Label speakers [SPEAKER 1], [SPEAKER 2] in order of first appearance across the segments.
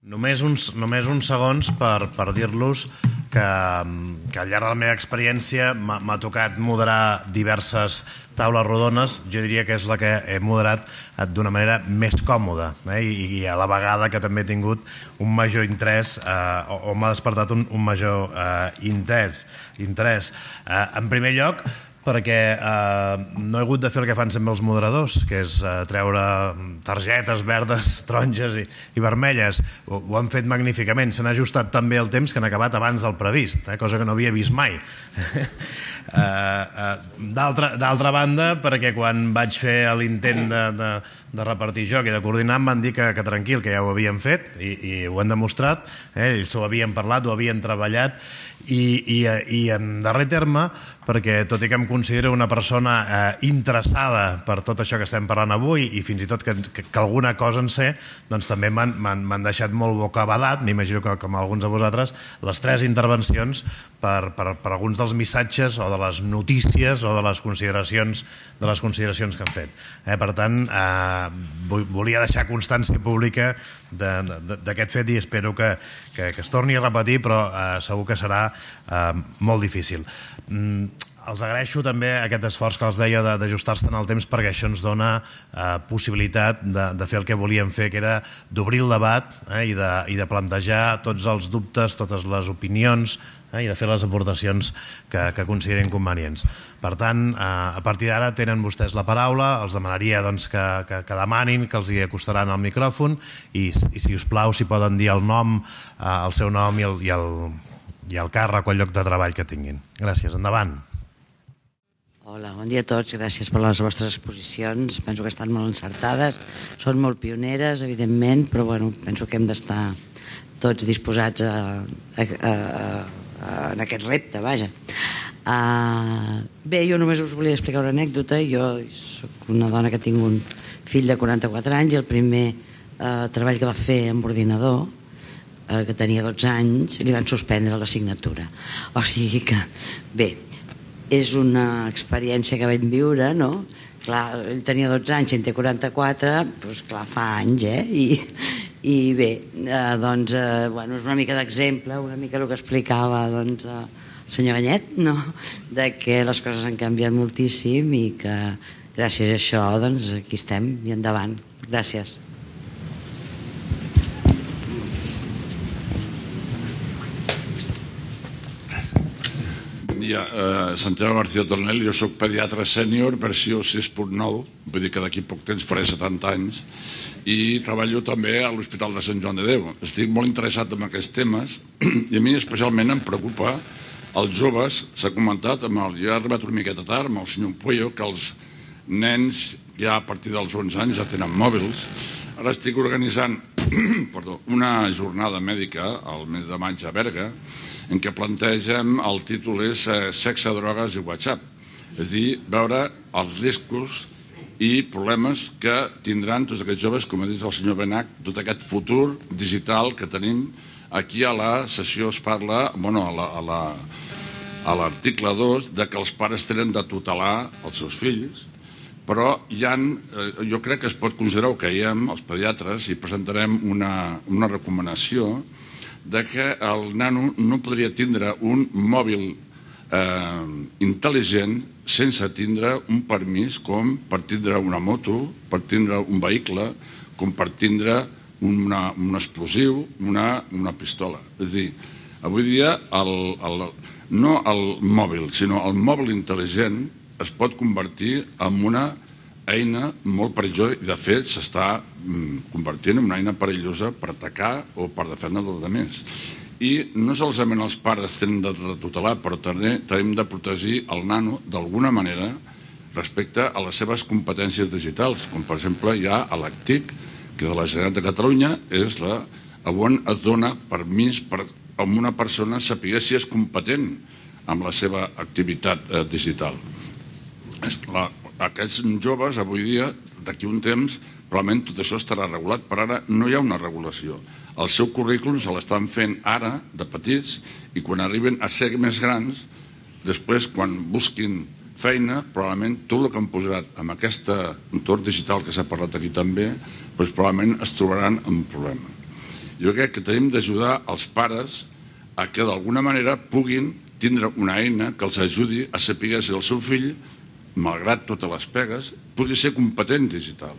[SPEAKER 1] Només uns segons per dir-los que al llarg de la meva experiència m'ha tocat moderar diverses taules rodones. Jo diria que és la que he moderat d'una manera més còmoda, i a la vegada que també he tingut un major interès o m'ha despertat un major interès. En primer lloc, perquè no he hagut de fer el que fan sempre els moderadors, que és treure targetes verdes, taronges i vermelles. Ho han fet magníficament, s'han ajustat tan bé el temps que han acabat abans del previst, cosa que no havia vist mai. D'altra banda, perquè quan vaig fer l'intent de repartir joc i de coordinar em van dir que tranquil, que ja ho havien fet i ho han demostrat, ells ho havien parlat, ho havien treballat i en darrer terme, perquè tot i que em considero una persona interessada per tot això que estem parlant avui i fins i tot que alguna cosa en sé, doncs també m'han deixat molt bocabadat, m'imagino que com alguns de vosaltres, les 3 intervencions per alguns dels missatges o de les notícies o de les consideracions que han fet. Per tant, volia deixar constància pública d'aquest fet i espero que es torni a repetir, però segur que serà molt difícil. Els agraeixo també aquest esforç que els deia d'ajustar-se en el temps, perquè això ens dona possibilitat de fer el que volíem fer, que era d'obrir el debat i de plantejar tots els dubtes, totes les opinions i de fer les aportacions que considerin convenients. Per tant, a partir d'ara tenen vostès la paraula, els demanaria que demanin, que els hi acostaran al micròfon i si us plau, si poden dir el nom, el seu nom i el càrrec o el lloc de treball que tinguin. Gràcies, endavant.
[SPEAKER 2] Hola, bon dia a tots, gràcies per les vostres exposicions, penso que estan molt encertades, són molt pioneres, evidentment, però penso que hem d'estar tots disposats en aquest repte, vaja. Bé, jo només us volia explicar una anècdota. Jo soc una dona que tinc un fill de 44 anys i el primer treball que va fer amb ordinador, que tenia 12 anys, li van suspendre l'assignatura. O sigui que, bé, és una experiència que vam viure, no? Clar, ell tenia 12 anys, en té 44, doncs clar, fa anys, I bé, doncs, és una mica d'exemple, una mica el que explicava el senyor Banyet, no? De que les coses han canviat moltíssim i que gràcies a això, doncs, aquí estem i endavant. Gràcies.
[SPEAKER 3] Santiago García Tornel, jo soc pediatre sènior, versió 6.9, vull dir que d'aquí poc temps faré 70 anys, i treballo també a l'Hospital de Sant Joan de Déu. Estic molt interessat en aquests temes i a mi especialment em preocupa els joves. S'ha comentat, jo he arribat una miqueta tard amb el senyor Puello, que els nens ja a partir dels 11 anys ja tenen mòbils. Ara estic organitzant una jornada mèdica al mes de maig a Berga, en què plantegem, el títol és Sexe, drogues i WhatsApp. És a dir, veure els riscos i problemes que tindran tots aquests joves, com ha dit el senyor Benach, tot aquest futur digital que tenim. Aquí a la sessió es parla, a l'article 2, de que els pares tenen de tutelar els seus fills, però jo crec que es pot considerar, ho creiem els pediatres, i presentarem una recomanació de que el nano no podria tindre un mòbil intel·ligent sense tindre un permís, com per tindre una moto, per tindre un vehicle, com per tindre un explosiu, una pistola. És a dir, avui dia no el mòbil, sinó el mòbil intel·ligent es pot convertir en una eina molt perillosa i de fet s'està convertint en una eina perillosa per atacar o per defendre dels altres. I no solament els pares tenen de tutelar, però també hem de protegir el nano d'alguna manera respecte a les seves competències digitals, com per exemple hi ha l'ACTIC, que de la Generalitat de Catalunya és on es dona permís a una persona saber si és competent amb la seva activitat digital. Aquests joves, avui dia, d'aquí un temps, probablement tot això estarà regulat, però ara no hi ha una regulació. El seu currículum se l'estan fent ara, de petits, i quan arriben a ser més grans, després, quan busquin feina, probablement tot el que han posat en aquest entorn digital que s'ha parlat aquí també, probablement es trobaran amb un problema. Jo crec que tenim d'ajudar els pares a que d'alguna manera puguin tindre una eina que els ajudi a saber si el seu fill, malgrat totes les pegues, pugui ser competent digital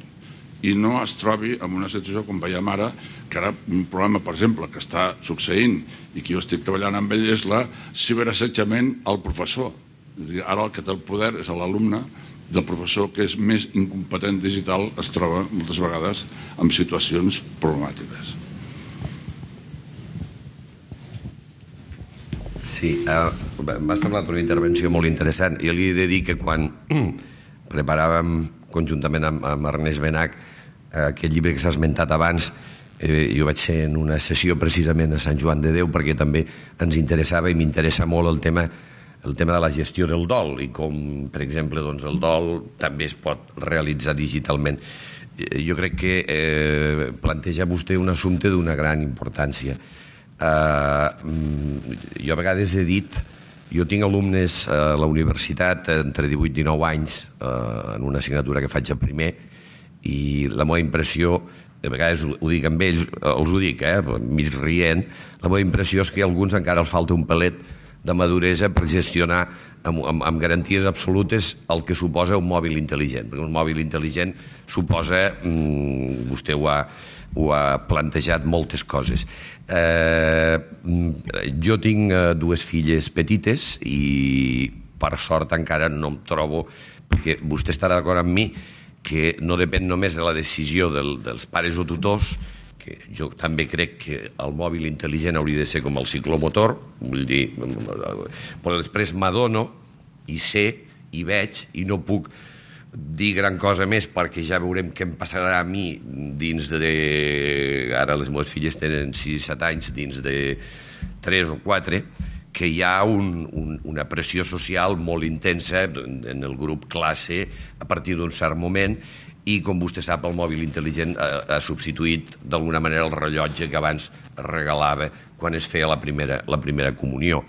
[SPEAKER 3] i no es trobi en una situació com veiem ara, que ara un problema, per exemple, que està succeint i que jo estic treballant amb ell és la ciberassetjament al professor. És a dir, ara el que té el poder és l'alumne del professor que és més incompetent digital, es troba moltes vegades en situacions problemàtiques.
[SPEAKER 4] Sí, m'ha semblat una intervenció molt interessant. Jo li he de dir que quan preparàvem conjuntament amb Ernest Benach aquest llibre que s'ha esmentat abans, jo vaig ser en una sessió precisament a Sant Joan de Déu perquè també ens interessava i m'interessa molt el tema de la gestió del dol i com, per exemple, el dol també es pot realitzar digitalment. Jo crec que planteja vostè un assumpte d'una gran importància. Jo a vegades he dit, jo tinc alumnes a la universitat entre 18 i 19 anys en una assignatura que faig a primer i la meva impressió, a vegades ho dic amb ells, els ho dic, mig rient, la meva impressió és que a alguns encara els falta un pelet de maduresa per gestionar amb garanties absolutes el que suposa un mòbil intel·ligent, perquè un mòbil intel·ligent suposa, vostè ho ha plantejat, moltes coses. Jo tinc dues filles petites i per sort encara no em trobo, perquè vostè estarà d'acord amb mi que no depèn només de la decisió dels pares o tutors, que jo també crec que el mòbil intel·ligent hauria de ser com el ciclomotor, vull dir, però després m'adono i sé i veig i no puc dir gran cosa més perquè ja veurem què em passarà a mi dins de... Ara les meves filles tenen 6 i 7 anys, dins de 3 o 4, que hi ha una pressió social molt intensa en el grup classe a partir d'un cert moment i, com vostè sap, el mòbil intel·ligent ha substituït d'alguna manera el rellotge que abans regalava quan es feia la primera comunió.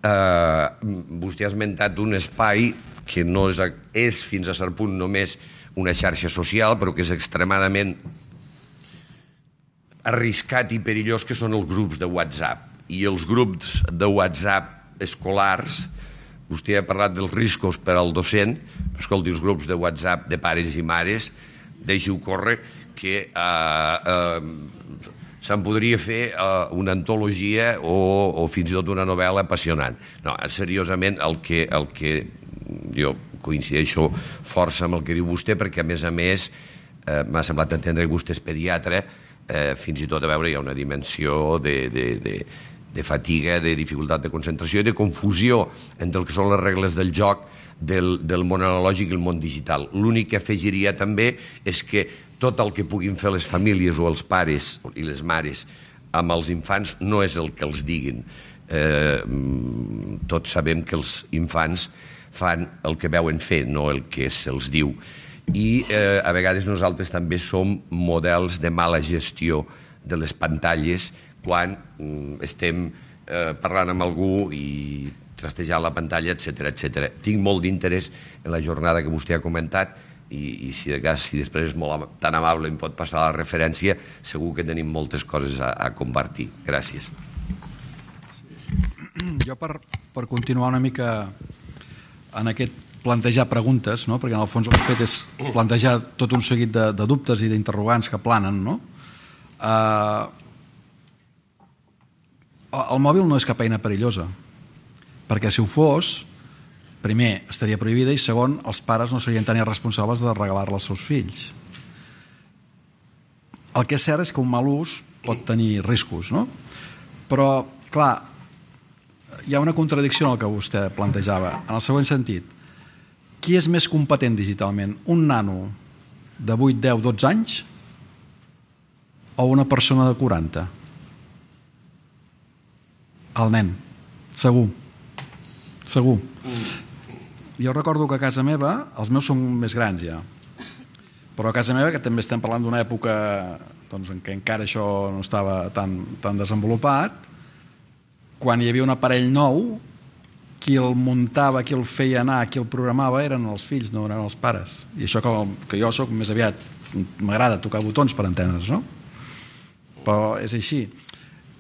[SPEAKER 4] Vostè ha esmentat un espai que no és fins a cert punt només una xarxa social, però que és extremadament arriscat i perillós, que són els grups de WhatsApp. I els grups de WhatsApp escolars, vostè ha parlat dels riscos per al docent, però escolti, els grups de WhatsApp de pares i mares, deixi-ho córrer, que se'n podria fer una antologia o fins i tot una novel·la apassionant. No, seriosament, el que jo coincideixo força amb el que diu vostè, perquè a més m'ha semblat entendre que vostè és pediatre, fins i tot a veure hi ha una dimensió de fatiga, de dificultat de concentració i de confusió entre el que són les regles del joc del món analògic i el món digital. L'únic que afegiria també és que tot el que puguin fer les famílies o els pares i les mares amb els infants no és el que els diguin. Tots sabem que els infants fan el que veuen fer, no el que se'ls diu. I a vegades nosaltres també som models de mala gestió de les pantalles quan estem parlant amb algú i trastejant la pantalla, etc. Tinc molt d'interès en la jornada que vostè ha comentat i si de cas, si després és molt tan amable i em pot passar la referència, segur que tenim moltes coses a compartir. Gràcies.
[SPEAKER 5] Jo per continuar una mica en aquest plantejar preguntes, perquè en el fons el que he fet és plantejar tot un seguit de dubtes i d'interrogants que planen. El mòbil no és cap eina perillosa, perquè si ho fos, primer, estaria prohibida i segon, els pares no serien tan irresponsables de regalar-la als seus fills. El que és cert és que un mal ús pot tenir riscos, però, clar, hi ha una contradicció en el que vostè plantejava, en el següent sentit. Qui és més competent digitalment? Un nano de 8, 10, 12 anys o una persona de 40? El nen, segur. Jo recordo que a casa meva, els meus són més grans ja, però a casa meva, que també estem parlant d'una època en què encara això no estava tan desenvolupat, quan hi havia un aparell nou, qui el muntava, qui el feia anar, qui el programava eren els fills, no eren els pares. I això que jo soc més aviat, m'agrada tocar botons per entendre's, no? però és així.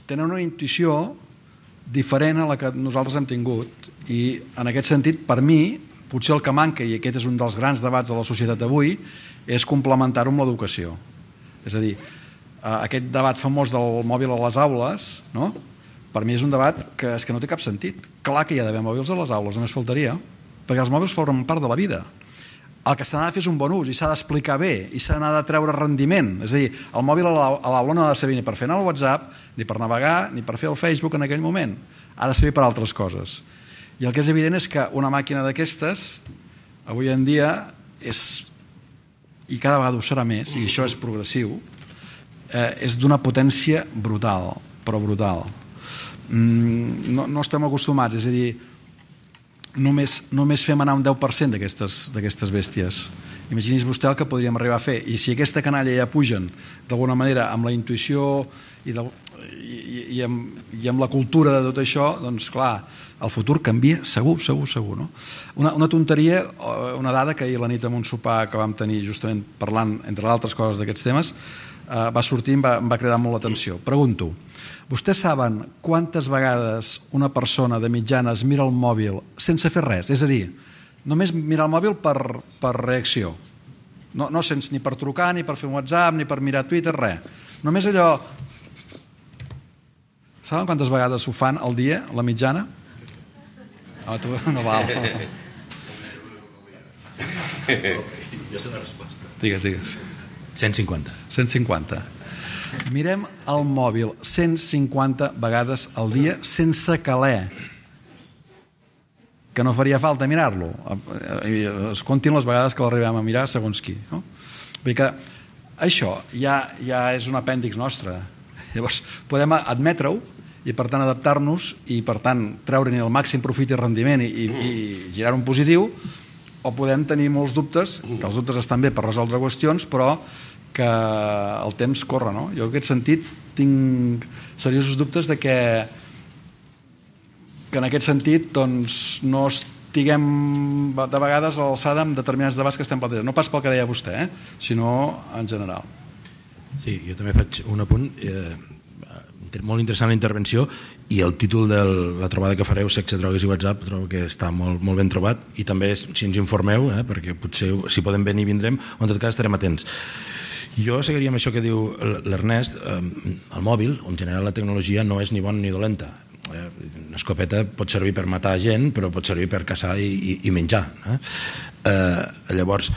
[SPEAKER 5] Tenen una intuïció diferent a la que nosaltres hem tingut i en aquest sentit, per mi, potser el que manca, i aquest és un dels grans debats de la societat d'avui, és complementar-ho amb l'educació. És a dir, aquest debat famós del mòbil a les aules, no? Per mi és un debat que és que no té cap sentit. Clar que hi ha d'haver mòbils a les aules, només faltaria, perquè els mòbils formen part de la vida. El que s'ha de fer és un bon ús i s'ha d'explicar bé i s'ha de treure rendiment. És a dir, el mòbil a l'aula no ha de servir ni per fer anar al WhatsApp, ni per navegar, ni per fer el Facebook en aquell moment. Ha de servir per altres coses. I el que és evident és que una màquina d'aquestes, avui en dia, és, i cada vegada ho serà més, i això és progressiu, és d'una potència brutal, però brutal. No estem acostumats, és a dir, només fem anar un 10% d'aquestes bèsties. Imagini's vostè el que podríem arribar a fer. I si aquesta canalla ja pugen d'alguna manera amb la intuïció i amb la cultura de tot això, doncs clar, el futur canvia segur, no? Una tonteria, una dada que ahir a la nit en un sopar que vam tenir justament parlant, entre altres coses, d'aquests temes, va sortir i em va cridar molt l'atenció. Pregunto, vostès saben quantes vegades una persona de mitjana es mira el mòbil sense fer res? És a dir, només mirar el mòbil per reacció. No sense ni per trucar, ni per fer un WhatsApp, ni per mirar Twitter, res. Només allò... Saben quantes vegades ho fan al dia, la mitjana? Tu no val.
[SPEAKER 6] Jo sé la resposta.
[SPEAKER 5] Digues.
[SPEAKER 6] 150.
[SPEAKER 5] 150. Mirem el mòbil 150 vegades al dia sense caler. Que no faria falta mirar-lo. Es comptin les vegades que l'arribem a mirar segons qui. No? Vull dir que això ja és un apèndix nostre. Llavors, podem admetre-ho i per tant adaptar-nos i per tant treure-ne el màxim profit i rendiment i girar un positiu, o podem tenir molts dubtes, que els dubtes estan bé per resoldre qüestions, però que el temps corre, no? Jo en aquest sentit tinc seriosos dubtes de que en aquest sentit doncs, no estiguem de vegades a l'alçada amb determinats debats que estem plantejant. No pas pel que deia vostè, sinó en general.
[SPEAKER 6] Sí, jo també faig un apunt. Molt interessant la intervenció i el títol de la trobada que fareu, Sexe, drogues i WhatsApp, trobo que està molt ben trobat i també si ens informeu, perquè potser si podem venir vindrem o en tot cas estarem atents. Jo seguiria amb això que diu l'Ernest. El mòbil, o en general la tecnologia, no és ni bona ni dolenta. Una escopeta pot servir per matar gent, però pot servir per caçar i menjar. Llavors,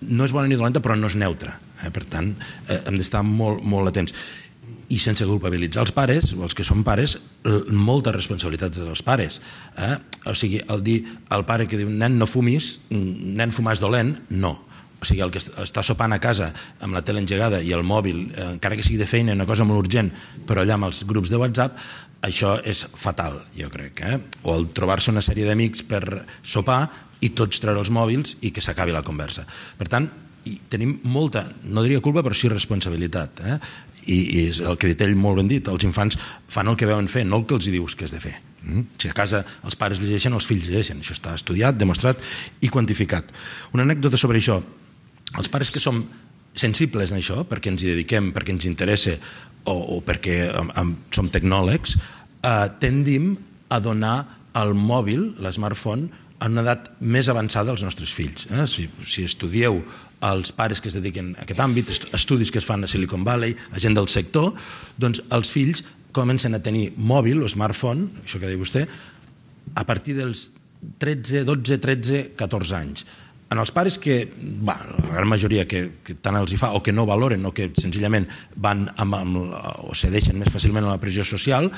[SPEAKER 6] no és bona ni dolenta, però no és neutra. Per tant, hem d'estar molt atents. I sense culpabilitzar els pares, o els que són pares, molta responsabilitat dels pares. O sigui, el dir al pare que diu nen no fumis, nen fumar és dolent, no. O sigui, el que està sopant a casa amb la tele engegada i el mòbil, encara que sigui de feina, una cosa molt urgent, però allà amb els grups de WhatsApp, això és fatal, jo crec. O el trobar-se una sèrie d'amics per sopar i tots treure els mòbils i que s'acabi la conversa. Per tant, tenim molta, no diria culpa, però sí responsabilitat. I és el que ha dit ell molt ben dit, els infants fan el que veuen fer, no el que els dius que has de fer. Si a casa els pares llegeixen, els fills llegeixen. Això està estudiat, demostrat i quantificat. Una anècdota sobre això. Els pares que som sensibles en això, perquè ens hi dediquem, perquè ens interessa o perquè som tecnòlegs, tendim a donar el mòbil, l'smartphone, a una edat més avançada als nostres fills. Si estudieu els pares que es dediquen a aquest àmbit, estudis que es fan a Silicon Valley, a gent del sector, doncs els fills comencen a tenir mòbil o smartphone, això que deia vostè, a partir dels 13, 12, 13, 14 anys. En els pares que, la gran majoria que tant els hi fa o que no valoren o que senzillament van o cedeixen més fàcilment a la pressió social,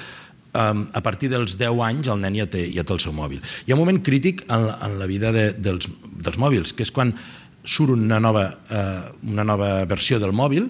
[SPEAKER 6] a partir dels 10 anys el nen ja té el seu mòbil. Hi ha un moment crític en la vida dels mòbils, que és quan surt una nova versió del mòbil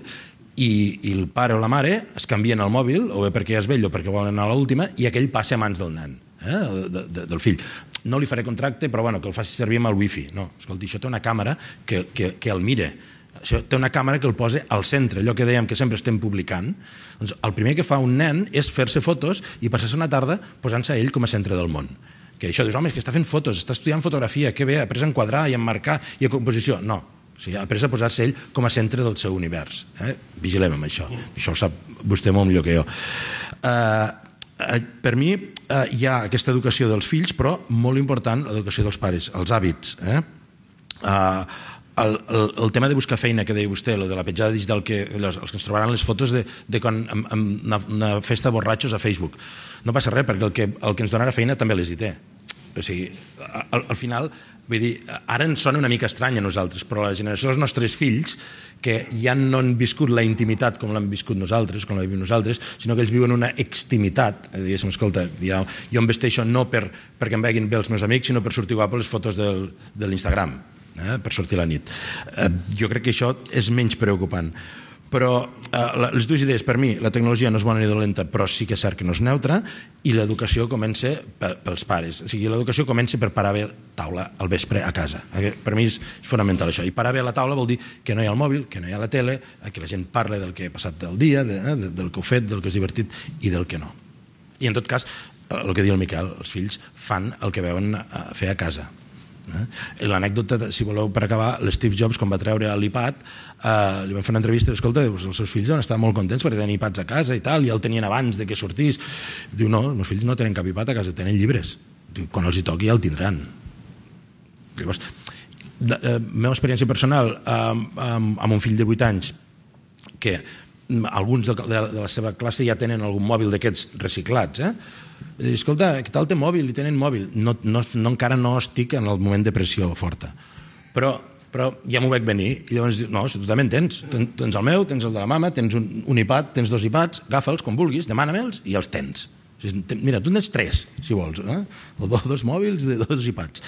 [SPEAKER 6] i el pare o la mare es canvien el mòbil, o bé perquè ja és vell o perquè volen anar a l'última, i aquell passa a mans del nen, del fill. No li faré contracte, però que el faci servir amb el wifi. No, escolti, això té una càmera que el mira. Això té una càmera que el posa al centre, allò que dèiem que sempre estem publicant. Doncs el primer que fa un nen és fer-se fotos i passar-se una tarda posant-se a ell com a centre del món. Que això dius, home, és que està fent fotos, està estudiant fotografia, que bé, ha après a enquadrar i a emmarcar i a composició. No, O sigui, ha après a posar-se ell com a centre del seu univers. Vigilem amb això. Això ho sap vostè molt millor que jo. Per mi hi ha aquesta educació dels fills, però molt important l'educació dels pares, els hàbits. El tema de buscar feina que deia vostè, de la petjada digital, els que ens trobaran les fotos de quan en una festa de borratxos a Facebook. No passa res, perquè el que ens donarà feina també les hi té. O sigui, al final, vull dir, ara ens sona una mica estrany a nosaltres, però la generació dels nostres fills, que ja no han viscut la intimitat com l'hem viscut nosaltres, com la vivim nosaltres, sinó que ells viuen una extimitat. Diguéssim, escolta, jo em vesteixo no perquè em veguin bé els meus amics, sinó per sortir guapo les fotos de l'Instagram, per sortir a la nit. Jo crec que això és menys preocupant. Però les dues idees, per mi, la tecnologia no és bona ni dolenta, però sí que és cert que no és neutra, i l'educació comença pels pares. O sigui, l'educació comença per parar bé taula al vespre a casa. Per mi és fonamental això. I parar bé a la taula vol dir que no hi ha el mòbil, que no hi ha la tele, que la gent parla del que ha passat del dia, del que ha fet, del que és divertit i del que no. I en tot cas, el que diu el Miquel, els fills fan el que veuen fer a casa. L'anècdota, si voleu, per acabar, l'Steve Jobs, quan va treure l'iPad, li van fer una entrevista i diu, escolta, els seus fills van estar molt contents perquè tenen iPads a casa i tal, i el tenien abans de que sortís. Diu, no, els meus fills no tenen cap iPad a casa, tenen llibres. Diu, quan els hi toqui ja el tindran. Llavors, la meva experiència personal amb un fill de 8 anys, que alguns de la seva classe ja tenen algun mòbil d'aquests reciclats, escolta, què tal té mòbil? I tenen mòbil. Encara no estic en el moment de pressió forta. Però ja m'ho veig venir. I llavors diu, no, si tu també en tens. Tens el meu, tens el de la mama, tens un iPad, tens 2 iPads, agafa'ls com vulguis, demana-me'ls i els tens. Mira, tu en tens 3, si vols. O 2 mòbils de 2 iPads.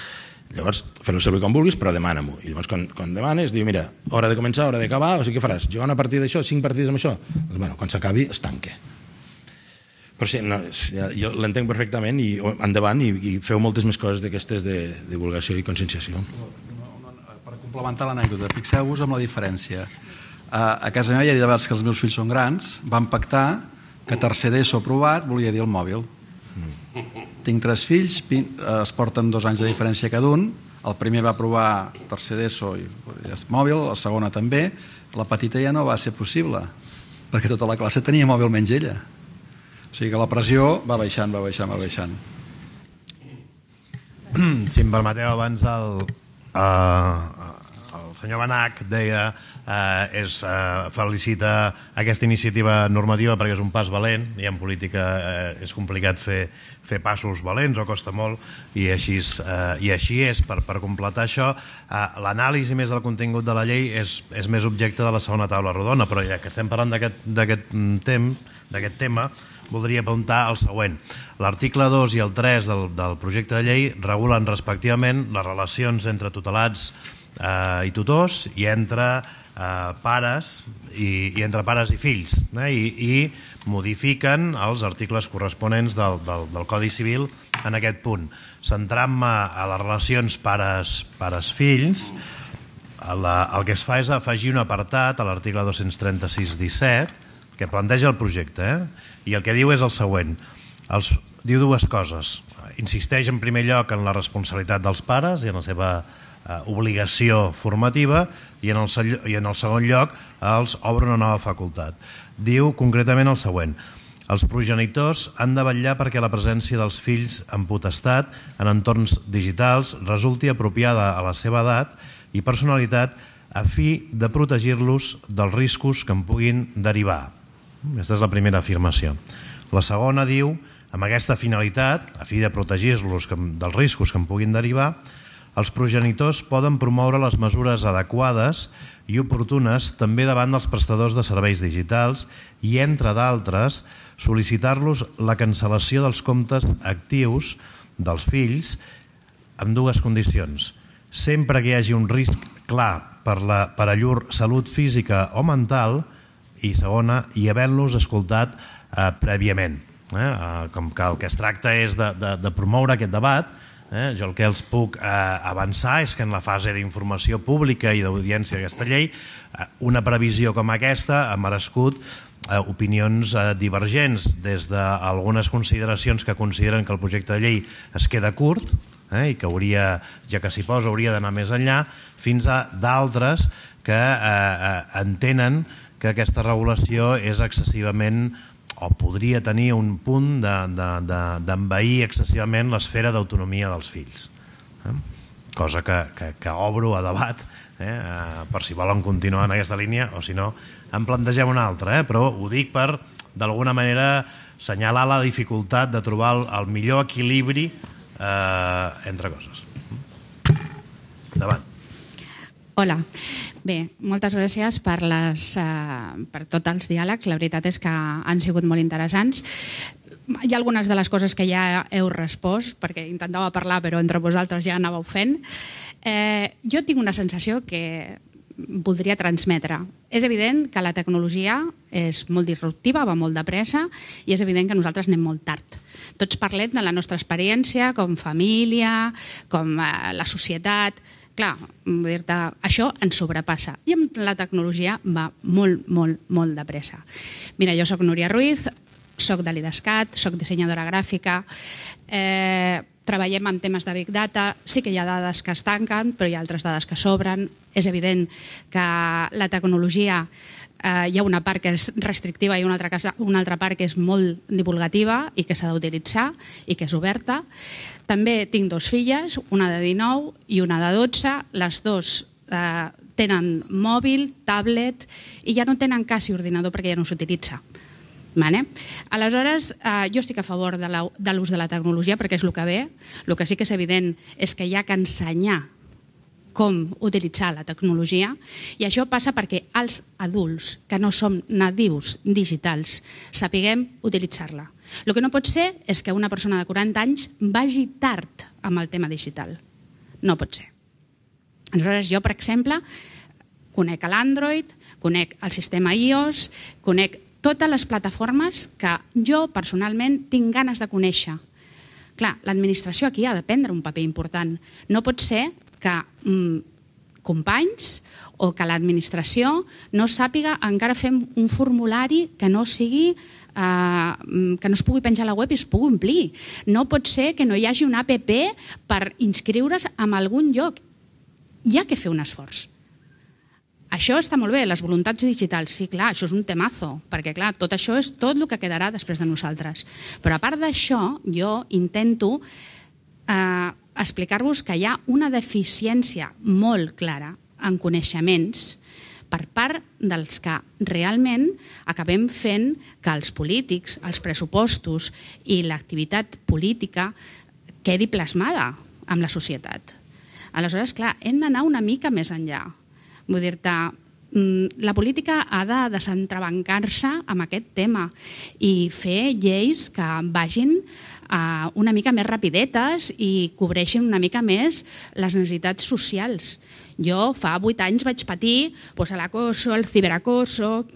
[SPEAKER 6] Llavors, fer-lo servir com vulguis, però demana-m'ho. I llavors, quan demanes, diu, mira, hora de començar, hora d'acabar, o sigui, què faràs? Jugar una partida d'això, 5 partides amb això? Doncs, bueno, quan s'acabi, es tanca. Però sí, jo l'entenc perfectament i endavant i feu moltes més coses d'aquestes de divulgació i conscienciació.
[SPEAKER 5] Per complementar l'anècdota, fixeu-vos amb la diferència. A casa meva ja he dit abans que els meus fills són grans, van pactar que tercer d'ESO aprovat volia dir el mòbil. Tinc 3 fills, es porten 2 anys de diferència cada un, el primer va aprovar tercer d'ESO i mòbil, el segona també, la petita ja no va ser possible, perquè tota la classe tenia mòbil menys ella. O sigui que la pressió va baixant.
[SPEAKER 1] Si em permeteu, abans el senyor Benach deia felicita aquesta iniciativa normativa perquè és un pas valent i en política és complicat fer passos valents o costa molt i així és. Per completar això, l'anàlisi més del contingut de la llei és més objecte de la segona taula rodona, però ja que estem parlant d'aquest tema, voldria apuntar el següent. L'article 2 i el 3 del projecte de llei regulen respectivament les relacions entre tutelats i tutors i entre pares i fills i modifiquen els articles corresponents del Codi Civil en aquest punt. Centrant-me a les relacions pares-fills, el que es fa és afegir un apartat a l'article 236-17 que planteja el projecte, i el que diu és el següent. Diu 2 coses. Insisteix en primer lloc en la responsabilitat dels pares i en la seva obligació formativa i en el segon lloc els obre una nova facultat. Diu concretament el següent. Els progenitors han de vetllar perquè la presència dels fills en potestat en entorns digitals resulti apropiada a la seva edat i personalitat a fi de protegir-los dels riscos que en puguin derivar. Aquesta és la primera afirmació. La segona diu, amb aquesta finalitat, a fi de protegir-los dels riscos que en puguin derivar, els progenitors poden promoure les mesures adequades i oportunes també davant dels prestadors de serveis digitals i, entre d'altres, sol·licitar-los la cancel·lació dels comptes actius dels fills amb 2 condicions. Sempre que hi hagi un risc clar per a llur salut física o mental i segona, i havent-los escoltat prèviament. Com que el que es tracta és de promoure aquest debat, jo el que els puc avançar és que en la fase d'informació pública i d'audiència d'aquesta llei, una previsió com aquesta ha merescut opinions divergents, des d'algunes consideracions que consideren que el projecte de llei es queda curt i que hauria, ja que s'hi posa, hauria d'anar més enllà, fins a d'altres que entenen que aquesta regulació és excessivament, o podria tenir un punt d'envair excessivament l'esfera d'autonomia dels fills. Cosa que obro a debat, per si volen continuar en aquesta línia, o si no, en plantegem una altra, però ho dic per, d'alguna manera, assenyalar la dificultat de trobar el millor equilibri entre coses. Endavant.
[SPEAKER 7] Hola. Bé, moltes gràcies per tots els diàlegs. La veritat és que han sigut molt interessants. Hi ha algunes de les coses que ja heu respost, perquè intentava parlar però entre vosaltres ja anàveu fent. Jo tinc una sensació que voldria transmetre. És evident que la tecnologia és molt disruptiva, va molt de pressa, i és evident que nosaltres anem molt tard. Tots parlem de la nostra experiència com família, com la societat. Clar, dir-te, això ens sobrepassa. I amb la tecnologia va molt, molt, molt de pressa. Mira, jo soc Núria Ruiz, soc de l'IDESCAT, soc dissenyadora gràfica, treballem amb temes de Big Data, sí que hi ha dades que es tanquen, però hi ha altres dades que sobren. És evident que la tecnologia hi ha una part que és restrictiva i una altra part que és molt divulgativa i que s'ha d'utilitzar i que és oberta. També tinc 2 filles, una de 19 i una de 12. Les 2 tenen mòbil, tablet i ja no tenen quasi ordinador perquè ja no s'utilitza. Aleshores, jo estic a favor de l'ús de la tecnologia perquè és el que ve. El que sí que és evident és que hi ha que ensenyar com utilitzar la tecnologia, i això passa perquè els adults, que no som nadius digitals, sapiguem utilitzar-la. El que no pot ser és que una persona de 40 anys vagi tard amb el tema digital. No pot ser. Aleshores, jo, per exemple, conec l'Android, conec el sistema iOS, conec totes les plataformes que jo personalment tinc ganes de conèixer. Clar, l'administració aquí ha de prendre un paper important. No pot ser que companys o que l'administració no sàpiga encara fer un formulari que no sigui que no es pugui penjar a la web i es pugui omplir. No pot ser que no hi hagi una app per inscriure's en algun lloc. Hi ha que fer un esforç. Això està molt bé, les voluntats digitals, sí, clar, això és un temazo, perquè clar, tot això és tot el que quedarà després de nosaltres. Però a part d'això, jo intento explicar-vos que hi ha una deficiència molt clara en coneixements per part dels que realment acabem fent que els polítics, els pressupostos i l'activitat política quedi plasmada amb la societat. Aleshores, clar, hem d'anar una mica més enllà. Vull dir-te, la política ha de desentrebancar-se amb aquest tema i fer lleis que vagin una mica més rapidetes i cobreixin una mica més les necessitats socials. Jo fa 8 anys vaig patir l'acoso, el ciberacoso,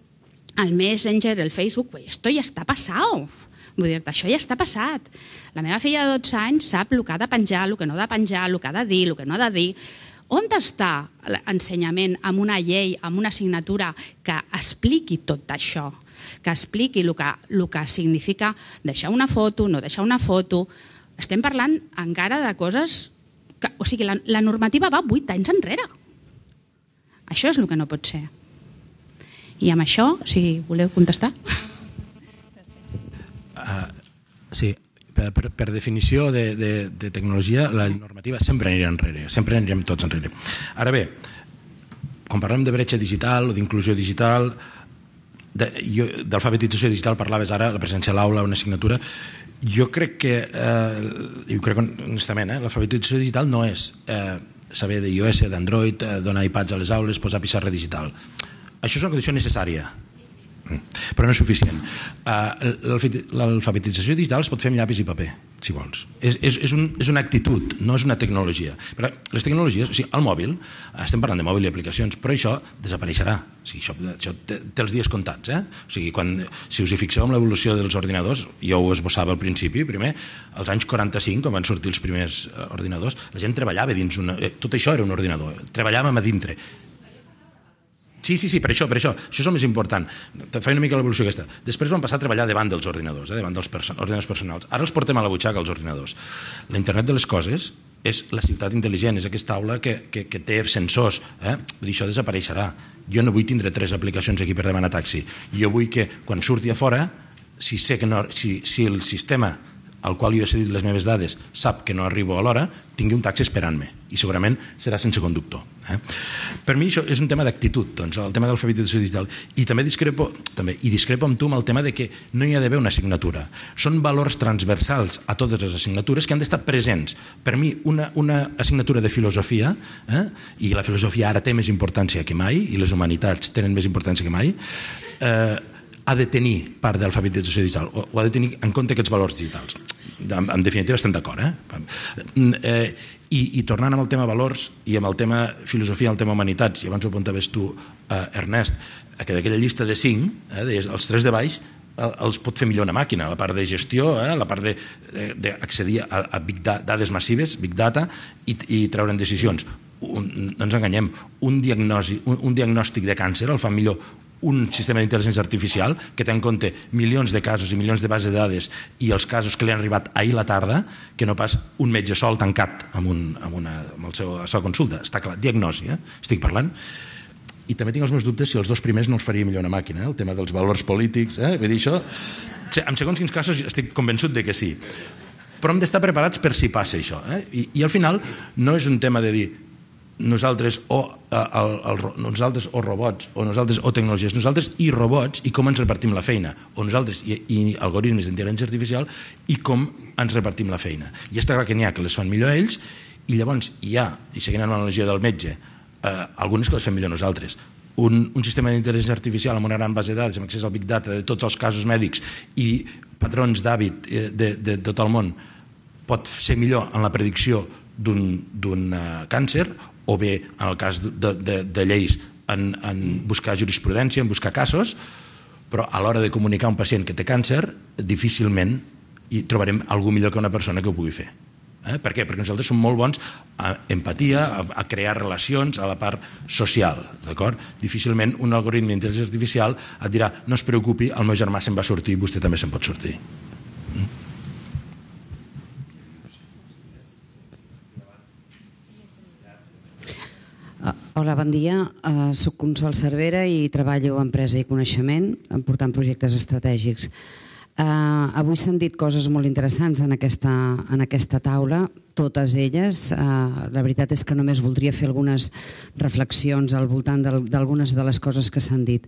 [SPEAKER 7] el Messenger, el Facebook. Esto ja està passat. Vull dir-te, això ja està passat. La meva filla de 12 anys sap el que ha de penjar, el que no ha de penjar, el que ha de dir, el que no ha de dir. On està l'ensenyament amb una llei, amb una assignatura que expliqui tot això? Que expliqui el que significa deixar una foto, no deixar una foto. Estem parlant encara de coses... O sigui, la normativa va 8 anys enrere. Això és el que no pot ser. I amb això, si voleu contestar.
[SPEAKER 6] Sí, per definició de tecnologia, la normativa sempre anirà enrere, sempre anirem tots enrere. Ara bé, quan parlem de bretxa digital o d'inclusió digital, d'alfabetització digital parlaves ara, la presència a l'aula, una assignatura. Jo crec que, i ho crec honestament, l'alfabetització digital no és saber d'iOS, d'Android, donar iPads a les aules, posar pissarra digital. Això és una condició necessària, però no és suficient. L'alfabetització digital es pot fer amb llapis i paper, si vols. És una actitud, no és una tecnologia. Però les tecnologies, o sigui, el mòbil, estem parlant de mòbil i aplicacions, però això desapareixerà. O sigui, això té els dies comptats. O sigui, si us hi fixeu en l'evolució dels ordinadors, jo ho esbossava al principi, primer, als anys 45, quan van sortir els primers ordinadors, la gent treballava dins una... Tot això era un ordinador, treballàvem a dintre. Sí, per això. Això és el més important. Fa una mica l'evolució aquesta. Després vam passar a treballar davant dels ordinadors, davant dels ordinadors personals. Ara els portem a la butxaca, els ordinadors. La internet de les coses és la ciutat intel·ligent, és aquesta aula que té sensors. Vull dir, això desapareixerà. Jo no vull tindre 3 aplicacions aquí per demanar taxi. Jo vull que quan surti a fora, si el sistema al qual jo he cedit les meves dades sap que no arribo a l'hora, tingui un taxi esperant-me i segurament serà sense conductor. Per mi això és un tema d'actitud, doncs, el tema de l'alfabetització digital. I també discrepo amb tu amb el tema de que no hi ha d'haver una assignatura. Són valors transversals a totes les assignatures que han d'estar presents. Per mi, una assignatura de filosofia, i la filosofia ara té més importància que mai, i les humanitats tenen més importància que mai, ha de tenir part d'alfabetització digital, o ha de tenir en compte aquests valors digitals. En definitiva estem d'acord. I tornant amb el tema valors i amb el tema filosofia, el tema humanitats, i abans ho apuntaves tu, Ernest, que d'aquella llista de 5, els 3 de baix els pot fer millor una màquina, la part de gestió, la part d'accedir a dades massives, big data, i treure'n decisions. No ens enganyem, un diagnòstic de càncer el fa millor un sistema d'intel·ligència artificial que té en compte milions de casos i milions de bases de dades i els casos que li han arribat ahir la tarda, que no pas un metge sol tancat amb la seva consulta. Està clar, diagnosi, estic parlant. I també tinc els meus dubtes si els 2 primers no els faria millor una màquina, el tema dels valors polítics, vull dir això, en segons quins casos estic convençut de que sí. Però hem d'estar preparats per si passa això. I al final no és un tema de dir nosaltres o robots, o nosaltres o tecnologies, nosaltres i robots, i com ens repartim la feina, o nosaltres i algoritmes d'intel·ligència artificial, i com ens repartim la feina. I està clar que n'hi ha que les fan millor ells, i llavors hi ha, i seguint amb l'analogia del metge, algunes que les fem millor nosaltres. Un sistema d'intel·ligència artificial amb una gran base de dades, amb accés al big data de tots els casos mèdics i patrons d'hàbit de tot el món, pot ser millor en la predicció d'un càncer, o bé, en el cas de lleis, en buscar jurisprudència, en buscar casos, però a l'hora de comunicar a un pacient que té càncer, difícilment hi trobarem algú millor que una persona que ho pugui fer. Per què? Perquè nosaltres som molt bons a empatia, a crear relacions, a la part social, d'acord? Difícilment un algoritme d'intel·ligència artificial et dirà no es preocupi, el meu germà se'n va sortir, vostè també se'n pot sortir.
[SPEAKER 2] Hola, bon dia. Soc Consol Cervera i treballo a Empresa i Coneixement, portant projectes estratègics. Avui s'han dit coses molt interessants en aquesta taula, totes elles. La veritat és que només voldria fer algunes reflexions al voltant d'algunes de les coses que s'han dit.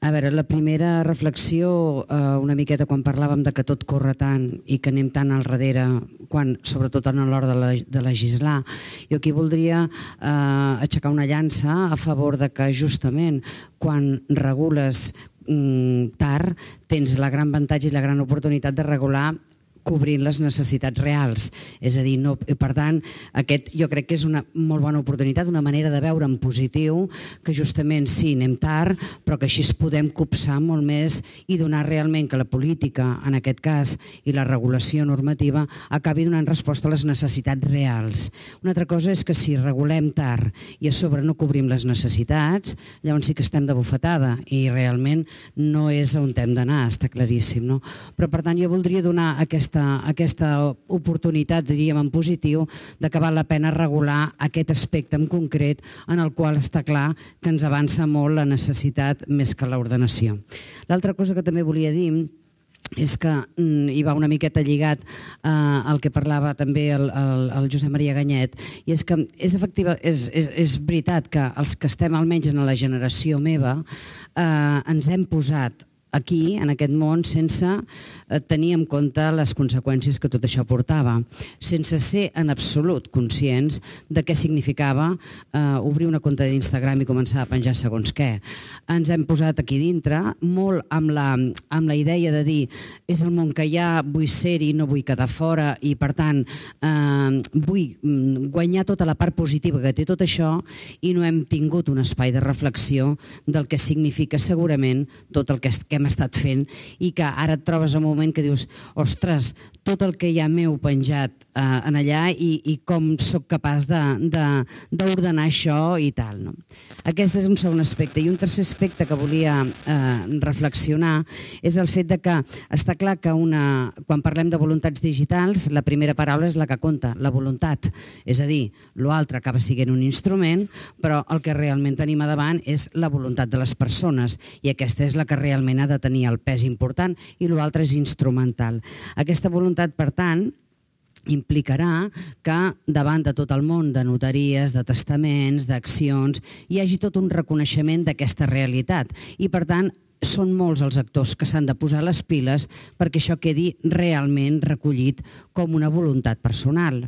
[SPEAKER 2] A veure, la primera reflexió, una miqueta quan parlàvem de que tot corre tant i que anem tant al darrere, sobretot a l'hora de legislar, jo aquí voldria aixecar una llança a favor de que justament quan regules tard tens la gran avantatge i la gran oportunitat de regular cobrint les necessitats reals. És a dir, per tant, aquest jo crec que és una molt bona oportunitat, una manera de veure en positiu que justament sí, anem tard, però que així es podem copsar molt més i donar realment que la política, en aquest cas, i la regulació normativa acabi donant resposta a les necessitats reals. Una altra cosa és que si regulem tard i a sobre no cobrim les necessitats, llavors sí que estem de bufetada i realment no és on hem d'anar, està claríssim, no? Però per tant jo voldria donar aquesta oportunitat, diríem en positiu, de que val la pena regular aquest aspecte en concret en el qual està clar que ens avança molt la necessitat més que l'ordenació. L'altra cosa que també volia dir és que hi va una miqueta lligat al que parlava també el Josep Maria Ganyet, i és que és veritat que els que estem almenys en la generació meva ens hem posat aquí, en aquest món, sense tenir en compte les conseqüències que tot això portava, sense ser en absolut conscients de què significava obrir una compte d'Instagram i començar a penjar segons què. Ens hem posat aquí dintre molt amb la idea de dir és el món que hi ha, vull ser-hi, no vull quedar fora i per tant vull guanyar tota la part positiva que té tot això i no hem tingut un espai de reflexió del que significa segurament tot el que hem hem estat fent i que ara et trobes en un moment que dius ostres, tot el que ja m'heu penjat en allà i com sóc capaç d'ordenar això i tal. No? Aquest és un segon aspecte. I un tercer aspecte que volia reflexionar és el fet de que està clar que quan parlem de voluntats digitals, la primera paraula és la que compta, la voluntat. És a dir, l'altre acaba sent un instrument, però el que realment tenim a davant és la voluntat de les persones i aquesta és la que realment ha de tenir el pes important i l'altre és instrumental. Aquesta voluntat, per tant, implicarà que davant de tot el món de notaries, de testaments, d'accions, hi hagi tot un reconeixement d'aquesta realitat i, per tant, són molts els actors que s'han de posar les piles perquè això quedi realment recollit com una voluntat personal,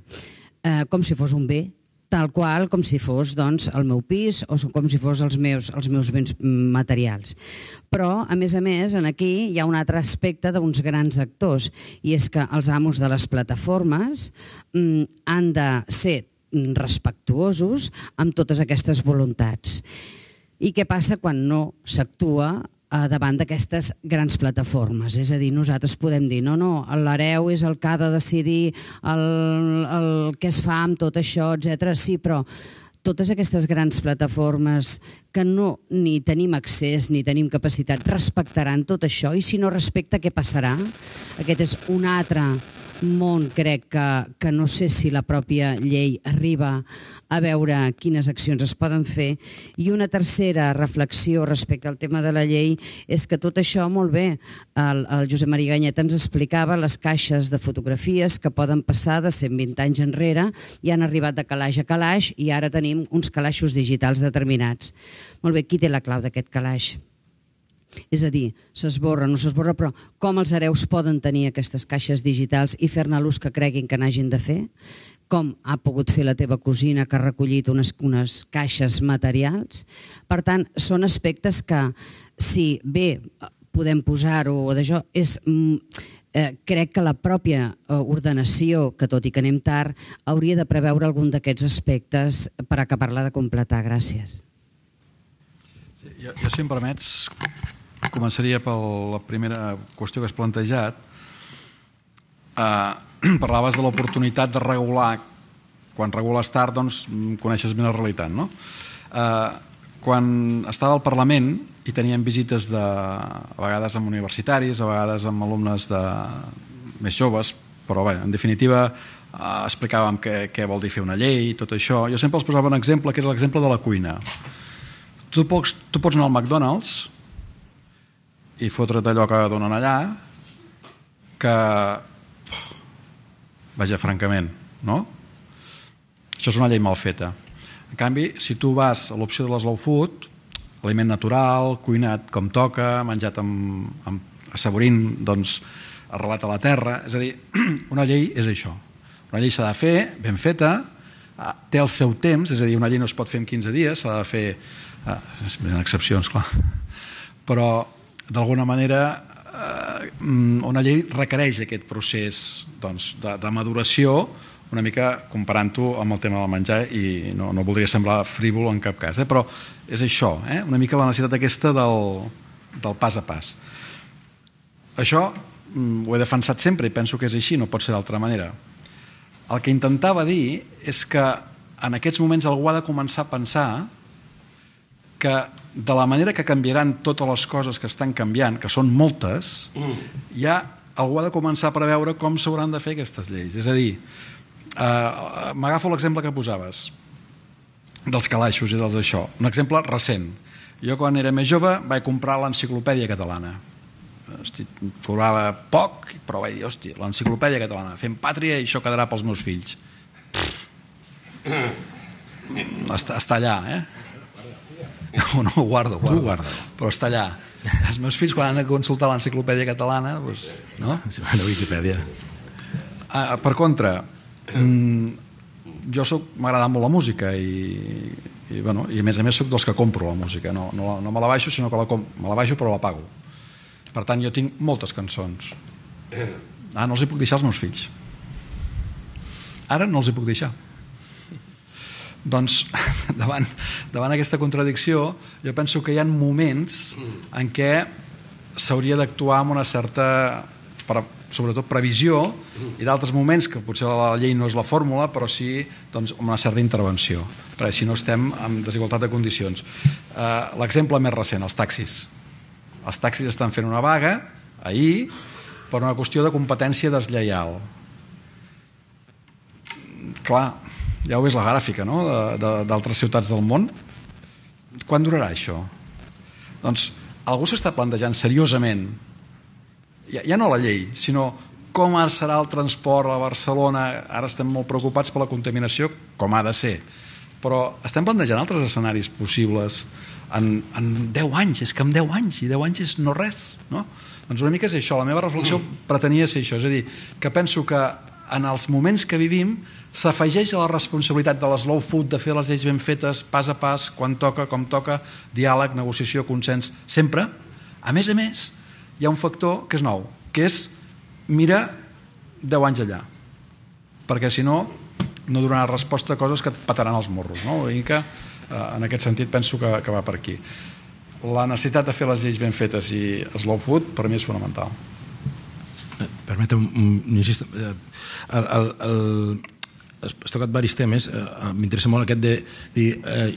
[SPEAKER 2] com si fos un bé, tal qual com si fos el meu pis o com si fos els meus béns materials. Però, a més, aquí hi ha un altre aspecte d'uns grans actors i és que els amos de les plataformes han de ser respectuosos amb totes aquestes voluntats. I què passa quan no s'actua davant d'aquestes grans plataformes? És a dir, nosaltres podem dir no, l'hereu és el que ha de decidir el que es fa amb tot això, etc. Sí, però totes aquestes grans plataformes que no ni tenim accés ni tenim capacitat respectaran tot això i si no respecta, què passarà? Aquest és un altre món, crec que no sé si la pròpia llei arriba a veure quines accions es poden fer. I una tercera reflexió respecte al tema de la llei és que tot això, molt bé, el Josep Maria Ganyet ens explicava les caixes de fotografies que poden passar de 120 anys enrere i han arribat de calaix a calaix i ara tenim uns calaixos digitals determinats. Molt bé, qui té la clau d'aquest calaix? És a dir, s'esborra, no s'esborra, però com els hereus poden tenir aquestes caixes digitals i fer-ne l'ús que creguin que n'hagin de fer? Com ha pogut fer la teva cosina que ha recollit unes caixes materials? Per tant, són aspectes que, si bé podem posar-ho d'això, crec que la pròpia ordenació, que tot i que anem tard, hauria de preveure algun d'aquests aspectes per acabar-la de completar. Gràcies.
[SPEAKER 5] Jo, si em permets, començaria per la primera qüestió que has plantejat. Parlaves de l'oportunitat de regular. Quan regules tard, doncs, coneixes bé la realitat, no? Quan estava al Parlament i teníem visites a vegades amb universitaris, a vegades amb alumnes més joves, però bé, en definitiva explicàvem què vol dir fer una llei i tot això. Jo sempre els posava un exemple, que és l'exemple de la cuina. Tu pots anar al McDonald's i fotre't allò que donen allà, que, vaja, francament, no? Això és una llei mal feta. En canvi, si tu vas a l'opció de l'slow food, aliment natural, cuinat com toca, menjat assaborint, doncs, arrelat a la terra, és a dir, una llei és això. Una llei s'ha de fer, ben feta, té el seu temps, és a dir, una llei no es pot fer en 15 dies, s'ha de fer, hi ha excepcions, clar, però d'alguna manera una llei requereix aquest procés de maduració, una mica comparant-ho amb el tema del menjar, i no voldria semblar frívol en cap cas, però és això, una mica la necessitat aquesta del pas a pas. Això ho he defensat sempre i penso que és així, no pot ser d'altra manera. El que intentava dir és que en aquests moments algú ha de començar a pensar que de la manera que canviaran totes les coses que estan canviant, que són moltes, ja algú ha de començar a preveure com s'hauran de fer aquestes lleis. És a dir, m'agafo l'exemple que posaves dels calaixos i dels d'això. Un exemple recent. Jo, quan era més jove, vaig comprar l'Enciclopèdia Catalana. Cobrava poc, però vaig dir, hòstia, l'Enciclopèdia Catalana, fem pàtria i això quedarà pels meus fills. Està allà, no ho guardo, però està allà. Els meus fills, quan han de consultar l'Enciclopèdia Catalana, no?
[SPEAKER 6] La Wikipedia.
[SPEAKER 5] Per contra, jo m'agrada molt la música i a més soc dels que compro la música. No me la baixo, sinó que me la baixo però la pago. Per tant, jo tinc moltes cançons. No els hi puc deixar als meus fills. Ara no els hi puc deixar. Doncs, davant aquesta contradicció, jo penso que hi ha moments en què s'hauria d'actuar amb una certa, sobretot, previsió, i d'altres moments que potser la llei no és la fórmula, però sí amb una certa intervenció, perquè si no estem en desigualtat de condicions. L'exemple més recent, els taxis. Els taxis estan fent una vaga ahir per una qüestió de competència deslleial. Clar, ja ho és la gràfica, no?, d'altres ciutats del món. Quan durarà això? Doncs algú s'està plantejant seriosament, ja no la llei, sinó com serà el transport a Barcelona. Ara estem molt preocupats per la contaminació, com ha de ser, però estem plantejant altres escenaris possibles en 10 anys. És que en 10 anys, i 10 anys és no res, no? Doncs una mica és això, la meva reflexió pretenia ser això, és a dir, que penso que en els moments que vivim s'afegeix a la responsabilitat de l'slow food, de fer les lleis ben fetes, pas a pas, quan toca, com toca, diàleg, negociació, consens, sempre. A més, hi ha un factor que és nou, que és mira 10 anys allà, perquè si no donarà resposta a coses que et petaran els morros, no? I que en aquest sentit penso que va per aquí. La necessitat de fer les lleis ben fetes i slow food per mi és fonamental.
[SPEAKER 6] Permeteu, insisto, has tocat diversos temes. M'interessa molt aquest de dir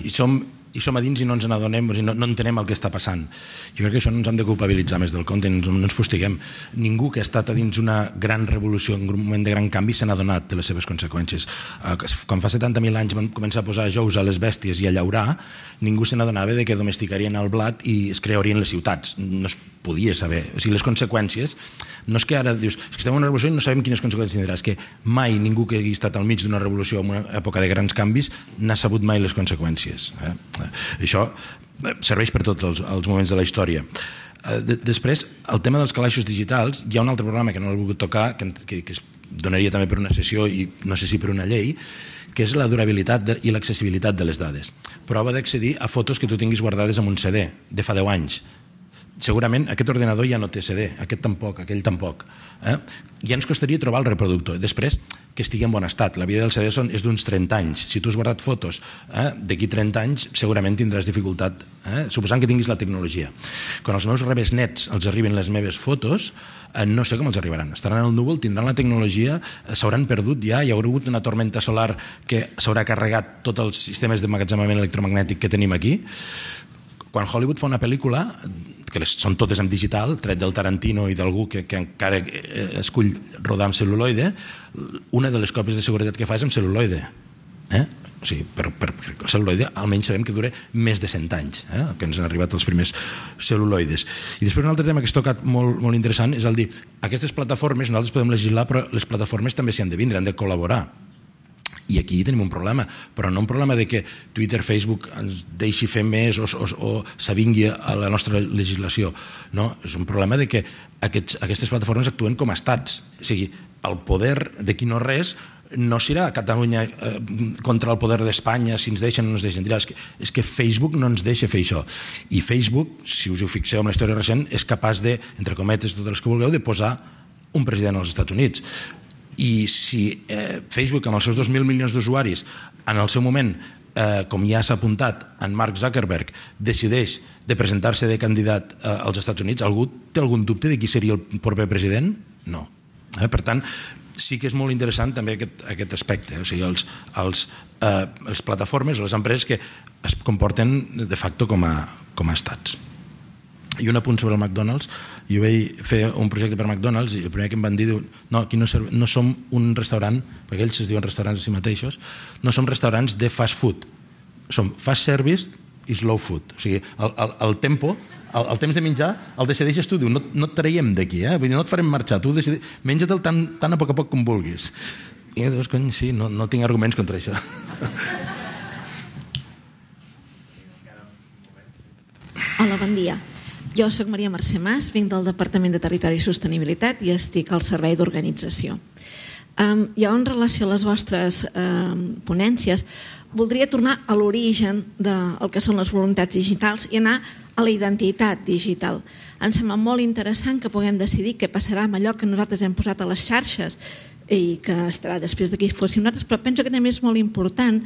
[SPEAKER 6] i som a dins i no ens n'adonem, no entenem el que està passant. Jo crec que això no ens hem de culpabilitzar més del compte, no ens fustiguem. Ningú que ha estat a dins una gran revolució, en un moment de gran canvi, se n'ha adonat de les seves conseqüències. Quan fa 70.000 anys van començar a posar jous a les bèsties i a llaurar, ningú se n'adonava que domesticarien el blat i es crearien les ciutats. No es podia saber. O sigui, les conseqüències, no és que ara dius, és que estem en una revolució i no sabem quines conseqüències tindrà, és que mai ningú que hagi estat al mig d'una revolució en una època de grans canvis n'ha sabut mai les conseqüències. Això serveix per tots els moments de la història. Després, el tema dels calaixos digitals, hi ha un altre programa que no l'he volgut tocar, que es donaria també per una sessió i no sé si per una llei, que és la durabilitat i l'accessibilitat de les dades. Prova d'accedir a fotos que tu tinguis guardades en un CD de fa 10 anys. Segurament aquest ordenador ja no té CD, aquest tampoc, aquell tampoc. Ja ens costaria trobar el reproductor. Després, que estigui en bon estat. La vida del CD és d'uns 30 anys. Si tu has guardat fotos d'aquí 30 anys, segurament tindràs dificultat, suposant que tinguis la tecnologia. Quan als meus rebesnets els arriben les meves fotos, no sé com els arribaran. Estaran al núvol, tindran la tecnologia, s'hauran perdut ja, hi haurà hagut una tormenta solar que s'haurà carregat tots els sistemes d'emmagatzemament electromagnètic que tenim aquí. Quan Hollywood fa una pel·lícula, que són totes en digital, tret del Tarantino i d'algú que encara escull rodar amb cel·luloide, una de les còpies de seguretat que fa és amb cel·luloide. O sigui, per cel·luloide almenys sabem que dura més de 100 anys, que ens han arribat els primers cel·luloides. I després un altre tema que has tocat molt interessant és el dir, aquestes plataformes, nosaltres podem legislar, però les plataformes també s'hi han de vindre, han de col·laborar. I aquí tenim un problema, però no un problema de que Twitter, Facebook ens deixi fer més o s'avingui a la nostra legislació. No, és un problema de que aquestes plataformes actuen com a estats. O sigui, el poder d'aquí no res no serà a Catalunya contra el poder d'Espanya, si ens deixen o no ens deixen. És que Facebook no ens deixa fer això. I Facebook, si us ho fixeu en la història recent, és capaç de, entre cometes, totes les que vulgueu, de posar un president als Estats Units. I si Facebook, amb els seus 2.000 milions d'usuaris, en el seu moment, com ja s'ha apuntat, en Mark Zuckerberg decideix de presentar-se de candidat als Estats Units, algú té algun dubte de qui seria el proper president? No. Per tant, sí que és molt interessant també aquest aspecte, o sigui, les plataformes o les empreses que es comporten de facto com a estats. I un apunt sobre el McDonald's. Jo vaig fer un projecte per McDonald's i el primer que em van dir, no, aquí no som un restaurant, perquè ells es diuen restaurants a si mateixos, no som restaurants de fast food, som fast service i slow food. O sigui, el tempo, el temps de menjar el decideixes tu, diu, no et traiem d'aquí, no et farem marxar, tu menja-te'l tan a poc com vulguis. I llavors, cony, sí, no tinc arguments contra això.
[SPEAKER 8] Hola, bon dia. Jo soc Maria Mercè Mas, vinc del Departament de Territori i Sostenibilitat i estic al servei d'organització. Jo, en relació a les vostres ponències, voldria tornar a l'origen del que són les voluntats digitals i anar a la identitat digital. Em sembla molt interessant que puguem decidir què passarà amb allò que nosaltres hem posat a les xarxes i que estarà després d'aquí fóssim nosaltres, però penso que també és molt important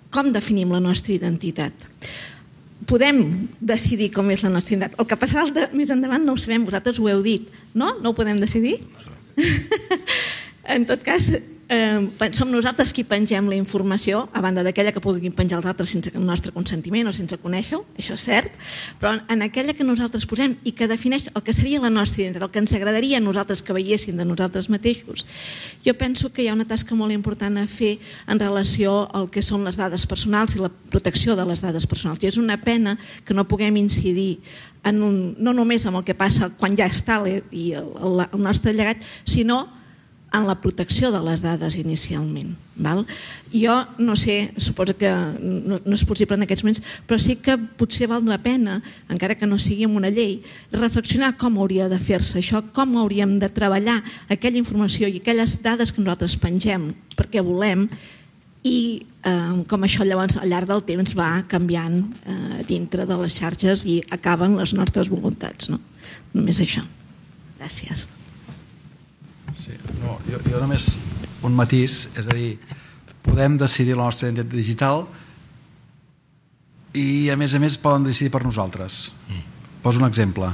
[SPEAKER 8] com definim la nostra identitat. podem decidir com és la nostra identitat. El que passarà més endavant no ho sabem, vosaltres ho heu dit, no? No ho podem decidir? En tot cas, som nosaltres qui pengem la informació, a banda d'aquella que puguin penjar els altres sense el nostre consentiment o sense conèixer-ho, això és cert, però en aquella que nosaltres posem i que defineix el que seria la nostra identitat, el que ens agradaria a nosaltres que veiessin de nosaltres mateixos, jo penso que hi ha una tasca molt important a fer en relació al que són les dades personals i la protecció de les dades personals. I és una pena que no puguem incidir no només en el que passa quan ja està i el nostre llegat, sinó en la protecció de les dades inicialment. Jo no sé, suposo que no és possible en aquests moments, però sí que potser val la pena, encara que no sigui amb una llei, reflexionar com hauria de fer-se això, com hauríem de treballar aquella informació i aquelles dades que nosaltres pengem perquè volem i com això llavors al llarg del temps va canviant dintre de les xarxes i acaben les nostres voluntats. Només això. Gràcies.
[SPEAKER 5] No, jo només un matís, és a dir, podem decidir la nostra identitat digital i a més poden decidir per nosaltres. Poso un exemple.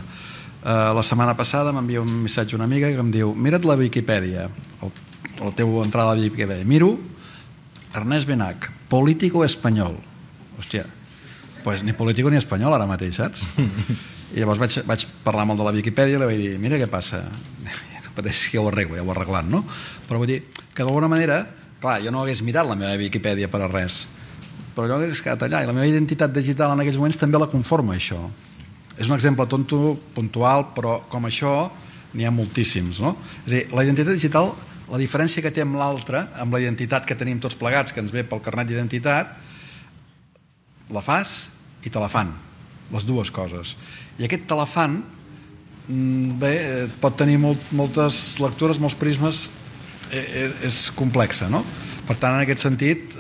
[SPEAKER 5] La setmana passada m'envia un missatge una amiga que em diu: mira't la Viquipèdia, la teva entrada a la Viquipèdia. Miro Ernest Benach, político espanyol. Hòstia, pues ni político ni espanyol ara mateix, saps? I llavors vaig parlar molt de la Viquipèdia i li vaig dir: mira què passa, pateix que ja ho arreglo, ja ho he arreglat, no? Però vull dir que d'alguna manera, clar, jo no hagués mirat la meva Viquipèdia per a res, però jo hagués quedat allà i la meva identitat digital en aquells moments també la conforma això. És un exemple tonto, puntual, però com això n'hi ha moltíssims, no? És a dir, la identitat digital, la diferència que té amb l'altra, amb la identitat que tenim tots plegats, que ens ve pel carnet d'identitat, la fas i te la fan, les dues coses. I aquest te la fan bé, pot tenir moltes lectures, molts prismes, és complexa, no? Per tant, en aquest sentit,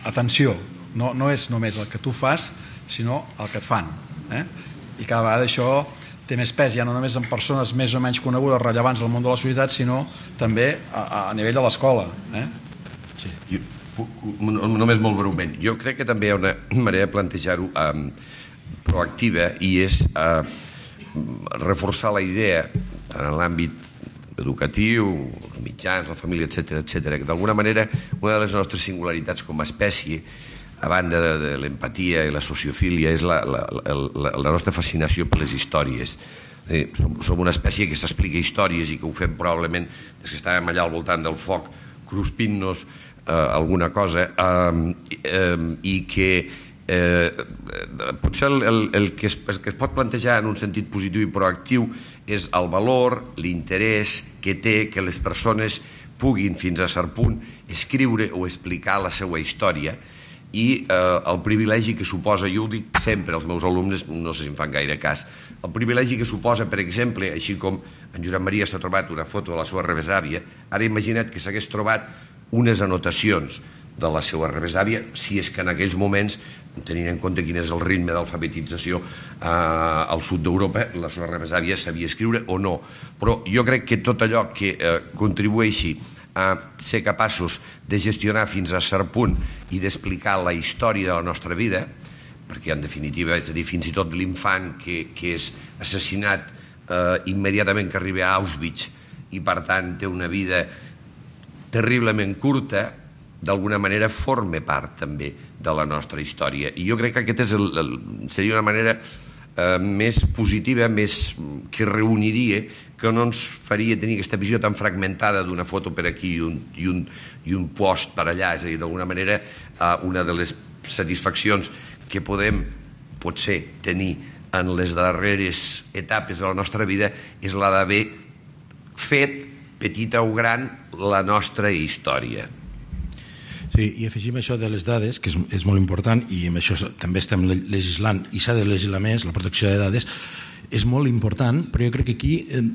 [SPEAKER 5] atenció, no és només el que tu fas, sinó el que et fan. I cada vegada això té més pes, ja no només en persones més o menys conegudes, rellevants al món de la societat, sinó també a nivell de l'escola.
[SPEAKER 4] Sí. Només molt breument. Jo crec que també hi ha una manera de plantejar-ho proactiva i és reforçar la idea tant en l'àmbit educatiu, els mitjans, la família, etc., que d'alguna manera una de les nostres singularitats com a espècie, a banda de l'empatia i la sociofília, és la nostra fascinació per les històries. Som una espècie que s'explica històries i que ho fem probablement des que estàvem allà al voltant del foc cruspint-nos alguna cosa i que potser el que es pot plantejar en un sentit positiu i proactiu és el valor, l'interès que té que les persones puguin fins a cert punt escriure o explicar la seva història i el privilegi que suposa, jo ho dic sempre als meus alumnes, no sé si em fan gaire cas, el privilegi que suposa, per exemple, així com en Josep Maria s'ha trobat una foto de la seva rebesàvia, ara imagina't que s'hagués trobat unes anotacions de la seva rebesàvia, si és que en aquells moments, tenint en compte quin és el ritme d'alfabetització al sud d'Europa, la seva rebesàvia sabia escriure o no. Però jo crec que tot allò que contribueixi a ser capaços de gestionar fins a cert punt i d'explicar la història de la nostra vida, perquè en definitiva, és a dir, fins i tot l'infant que és assassinat immediatament que arriba a Auschwitz i per tant té una vida terriblement curta, d'alguna manera forma part també de la nostra història. I jo crec que aquesta seria una manera més positiva, més que reuniria, que no ens faria tenir aquesta visió tan fragmentada d'una foto per aquí i un post per allà. És a dir, d'alguna manera, una de les satisfaccions que podem potser tenir en les darreres etapes de la nostra vida és la d'haver fet, petita o gran, la nostra història.
[SPEAKER 6] Sí, i afegim això de les dades, que és molt important, i amb això també estem legislant, i s'ha de legislar més, la protecció de dades, és molt important, però jo crec que aquí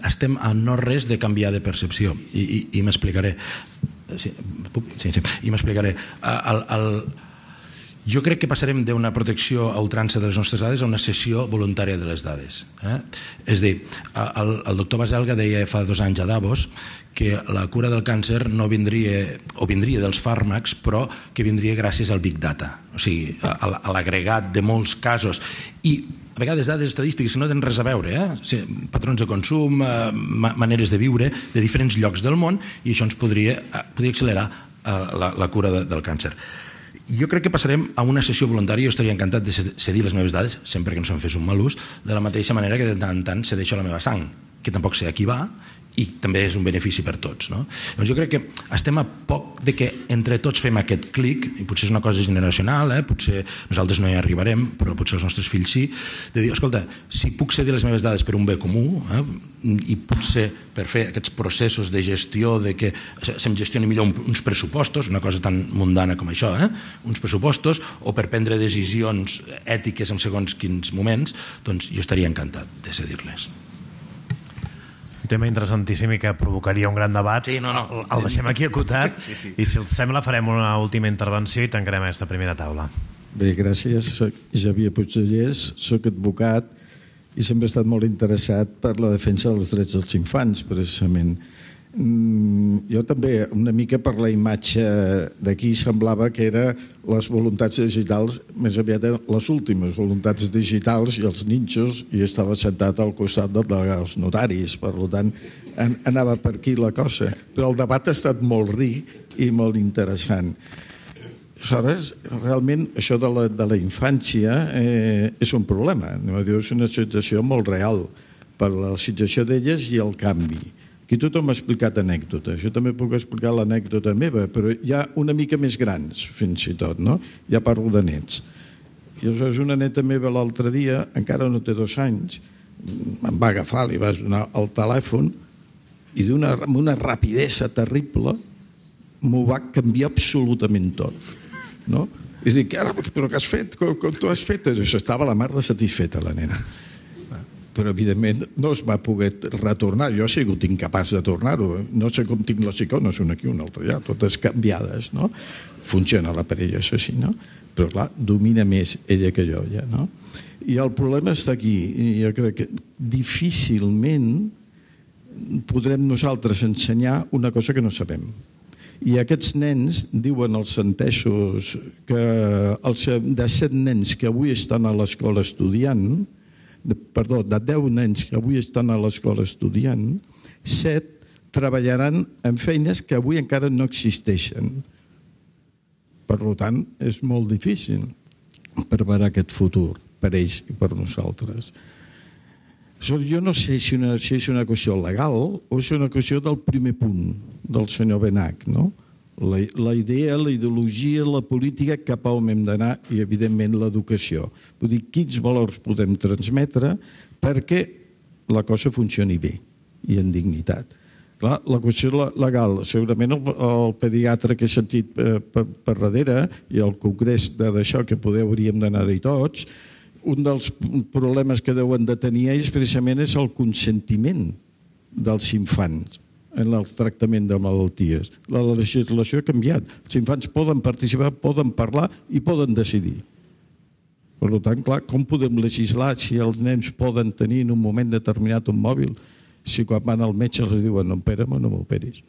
[SPEAKER 6] estem a no res de canviar de percepció, i m'explicaré. Sí, i m'explicaré. Jo crec que passarem d'una protecció a ultrança de les nostres dades a una cessió voluntària de les dades. És a dir, el doctor Baselga deia fa 2 anys a Davos que la cura del càncer no vindria, o vindria dels fàrmacs, però que vindria gràcies al Big Data, o sigui, a l'agregat de molts casos. I a vegades dades estadístiques que no tenen res a veure, patrons de consum, maneres de viure de diferents llocs del món, i això ens podria accelerar la cura del càncer. Jo crec que passarem a una sessió voluntària. Jo estaria encantat de cedir les meves dades, sempre que no se'n fes un mal ús, de la mateixa manera que de tant en tant cedeixo la meva sang, que tampoc sé a qui va, i també és un benefici per tots. Doncs jo crec que estem a poc de que entre tots fem aquest clic, i potser és una cosa generacional, potser nosaltres no hi arribarem, però potser els nostres fills sí, de dir, escolta, si puc cedir les meves dades per un bé comú, i potser per fer aquests processos de gestió, de que se'm gestioni millor uns pressupostos, una cosa tan mundana com això, uns pressupostos, o per prendre decisions ètiques en segons quins moments, doncs jo estaria encantat de cedir-les.
[SPEAKER 1] Un tema interessantíssim i que provocaria un gran debat.
[SPEAKER 6] Sí, no.
[SPEAKER 1] El deixem aquí acotat i si els sembla farem una última intervenció i tancarem aquesta primera taula.
[SPEAKER 9] Bé, gràcies. Soc Xavier Puigdellers, soc advocat i sempre he estat molt interessat per la defensa dels drets dels infants, precisament. Jo també, una mica per la imatge d'aquí, semblava que eren les voluntats digitals, més aviat eren les últimes voluntats digitals i els ninxos, i estava sentat al costat dels notaris, per tant anava per aquí la cosa. Però el debat ha estat molt ric i molt interessant. Aleshores, realment, això de la infància és un problema. És una situació molt real per la situació d'elles i el canvi. Aquí tothom ha explicat anècdotes. Jo també puc explicar l'anècdota meva, però ja una mica més grans, fins i tot, no? Ja parlo de nets. I aleshores una neta meva l'altre dia, encara no té 2 anys, em va agafar, li va donar el telèfon i amb una rapidesa terrible m'ho va canviar absolutament tot. No? I dic, però què has fet? Com tu has fet? Això estava la mar de satisfeta, la nena. Però evidentment no es va poder retornar. Jo he sigut incapaç de tornar-ho. No sé com tinc les icones, una aquí, una altra allà, totes canviades, no? Funciona l'aparell, això sí, no? Però clar, domina més ella que jo, ja, no? I el problema està aquí. Jo crec que difícilment podrem nosaltres ensenyar una cosa que no sabem. I aquests nens, diuen els entesos, que de 7 nens que avui estan a l'escola estudiant, de 10 nens que avui estan a l'escola estudiant, 7 treballaran en feines que avui encara no existeixen. Per tant, és molt difícil preparar aquest futur per ells i per nosaltres. Jo no sé si és una qüestió legal o és una qüestió del primer punt del senyor Benach, no? La idea, la ideologia, la política, cap a on hem d'anar i, evidentment, l'educació. Vull dir, quins valors podem transmetre perquè la cosa funcioni bé i en dignitat. Clar, la qüestió legal, segurament el pediatre que he sentit per darrere i el congrés d'això que poder hauríem d'anar-hi tots, un dels problemes que deuen de tenir ells precisament és el consentiment dels infants en el tractament de malalties. La legislació ha canviat. Els infants poden participar, poden parlar i poden decidir. Per tant, clar, com podem legislar si els nens poden tenir en un moment determinat un mòbil si quan van al metge els diuen no opera'm o no m'operis?